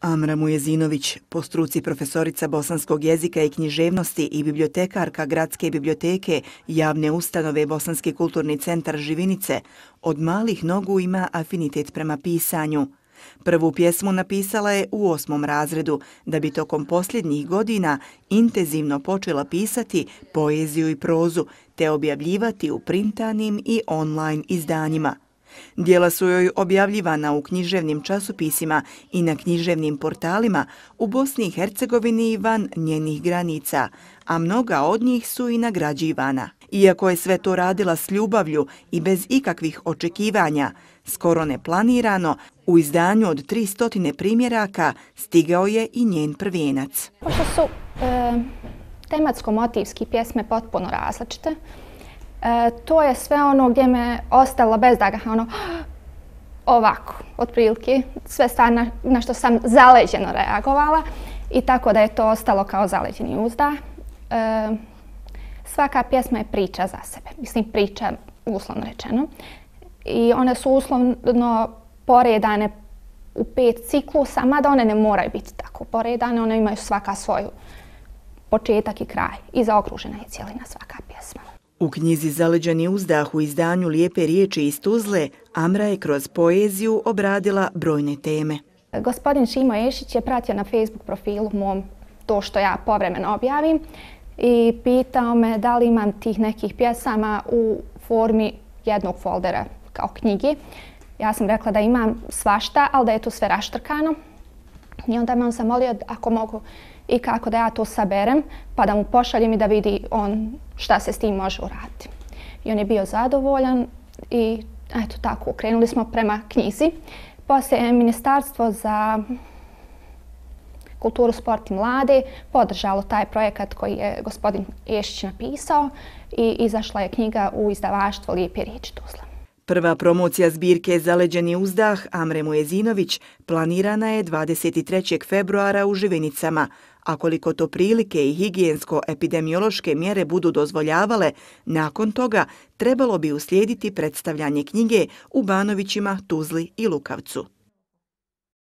Amra Mujezinović, po struci profesorica bosanskog jezika i književnosti i bibliotekarka Gradske biblioteke javne ustanove Bosanski kulturni centar Živinice, od malih nogu ima afinitet prema pisanju. Prvu pjesmu napisala je u 8. razredu, da bi tokom posljednjih godina intenzivno počela pisati poeziju i prozu, te objavljivati u printanim i online izdanjima. Djela su joj objavljivana u književnim časopisima i na književnim portalima u Bosni i Hercegovini i van njenih granica, a mnoga od njih su i nagrađivana. Iako je sve to radila s ljubavlju i bez ikakvih očekivanja, skoro neplanirano, u izdanju od 300 primjeraka stigao je i njen prvijenac. Pošto su tematsko-motivski pjesme potpuno različite, to je sve ono gdje me ostalo bez daga, ovako, otprilike, sve stvari na što sam zaleđeno reagovala i tako da je to ostalo kao zaleđeni uzdah. Svaka pjesma je priča za sebe, mislim priča uslovno rečeno. I one su uslovno poredane u 5 ciklusa, mada one ne moraju biti tako poredane, one imaju svaka svoju početak i kraj i zaokružena je cijelina svaka pjesma. U knjizi Zaleđeni uzdah u izdanju Lijepe riječi iz Tuzle, Amra je kroz poeziju obradila brojne teme. Gospodin Šimo Ješić je pratio na Facebook profilu mom to što ja povremeno objavim i pitao me da li imam tih nekih pjesama u formi jednog foldera kao knjigi. Ja sam rekla da imam svašta, ali da je to sve raštrkano. I onda me on zamolio ako mogu i kako da ja to saberem, pa da mu pošaljem i da vidi on šta se s tim može uraditi. I on je bio zadovoljan i eto tako, krenuli smo prema knjizi. Poslije je Ministarstvo za kulturu, sport i mlade podržalo taj projekat koji je gospodin Ješić napisao i izašla je knjiga u izdavaštvo Lijepe riječi Tuzla. Prva promocija zbirke Zaleđeni uzdah Amre Mujezinović planirana je 23. februara u Živinicama, a koliko to prilike i higijensko-epidemiološke mjere budu dozvoljavale, nakon toga trebalo bi uslijediti predstavljanje knjige u Banovićima, Tuzli i Lukavcu.